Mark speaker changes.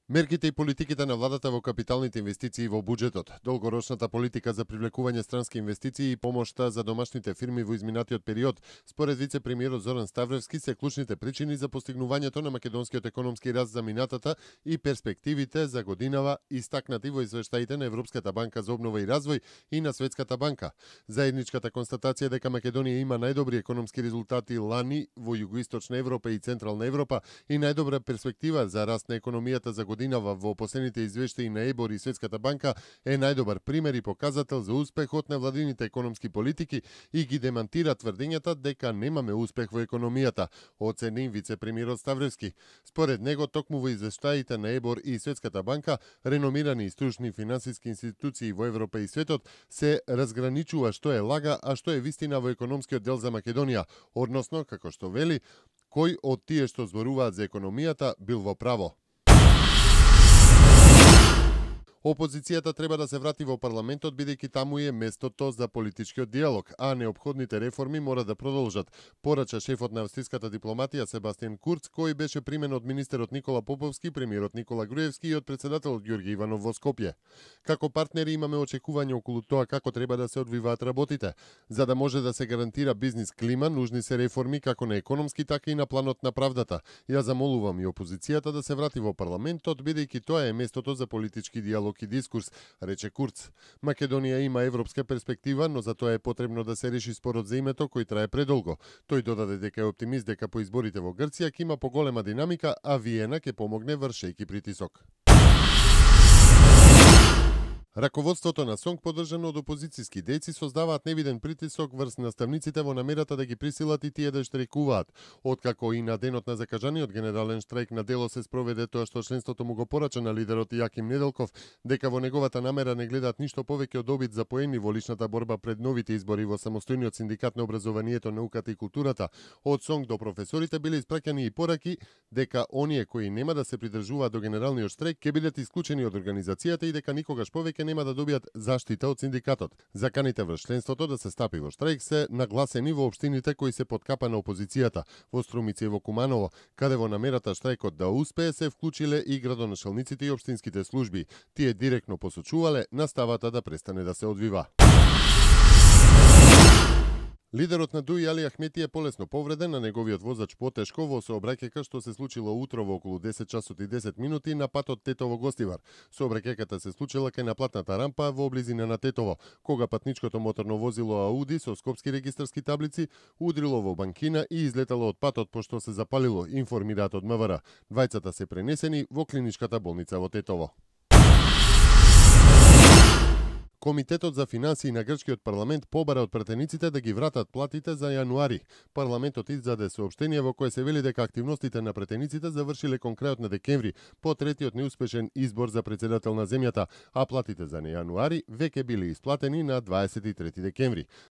Speaker 1: Мерките и политиките на владата во капиталните инвестиции во буџетот, долгорочната политика за привлекување странски инвестиции и помошта за домашните фирми во изминатиот период, според вице-премиерот Зоран Ставревски, се клучните причини за постигнувањето на македонскиот економски раст за минатата и перспективите за годинава, истакнати во извештаите на Европската банка за обнова и развој и на Светската банка. Заедничката констатација дека Македонија има најдобри економски резултати лани во југоисточна Европа и централна Европа и најдобра перспектива за раст на економијата за годинава во последните извештаи на ЕБОР и Светската банка е најдобар пример и показател за успехот на владините економски политики и ги демантира тврдењата дека немаме успех во економијата, оцени вице-премиерот Ставревски. Според него, токму во извештаите на ЕБОР и Светската банка, реномирани и стручни финансиски институции во Европа и светот се разграничува што е лага, а што е вистина во економскиот дел за Македонија, односно, како што вели, кој од тие што зборуваат за економијата бил во право. Опозицијата треба да се врати во парламентот, бидејќи таму е местото за политичкиот диалог, а неопходните реформи мора да продолжат, порача шефот на австриската дипломатија Себастијан Курц, кој беше примен од министерот Никола Поповски, премиерот Никола Груевски и од председателот Ѓорѓе Иванов во Скопје. Како партнери имаме очекување околу тоа како треба да се одвиваат работите. За да може да се гарантира бизнис клима, нужни се реформи како на економски, така и на планот на правдата. Ја замолувам и опозицијата да се врати во парламентот, бидејќи тоа е местото за политички диалог и дискурс, рече Курц. Македонија има европска перспектива, но за тоа е потребно да се реши спорот за името кој трае предолго. Тој додаде дека е оптимист дека по изборите во Грција ќе има поголема динамика, а Виена ќе помогне вршејќи притисок. Раководството на СОНК, поддржано од опозицијски дејци, создаваат невиден притисок врз наставниците во намерата да ги присилат и тие да штрajкуваат. Откако и на денот на закажаниот генерален штрајк на дело се спроведе тоа што членството му го порача на лидерот Јаким Неделков, дека во неговата намера не гледаат ништо повеќе од обид за поени во личната борба пред новите избори во самостојниот синдикат на образованието, науката и културата, од СОНК до професорите биле испраќани и пораки дека оние кои нема да се придржуваат до генералниот штрајк ќе бидат исклучени од организацијата и дека никогаш повеќе нема да добијат заштита од синдикатот. Заканите врз членството да се стапи во штрајк се нагласени во општините кои се под капа на опозицијата, во Струмица и во Куманово, каде во намерата штрајкот да успее се вклучиле и градоначалниците и општинските служби. Тие директно посочувале наставата да престане да се одвива. Лидерот на ДУИ Али Ахмети е полесно повреден, на неговиот возач потешко во сообраќајка што се случила утрово околу 10 часот и 10 минути на патот Тетово-Гостивар. Сообраќајката се случила кај наплатната рампа во близина на Тетово, кога патничкото моторно возило Ауди со скопски регистарски таблици удрило во банкина и излетало од патот пошто се запалило, информираат од МВР. Двајцата се пренесени во клиничката болница во Тетово. Комитетот за финансии на грчкиот парламент побара од пратениците да ги вратат платите за јануари. Парламентот издаде соопштение во кое се вели дека активностите на пратениците завршиле кон крајот на декември по третиот неуспешен избор за председател на земјата, а платите за јануари веќе биле исплатени на 23 декември.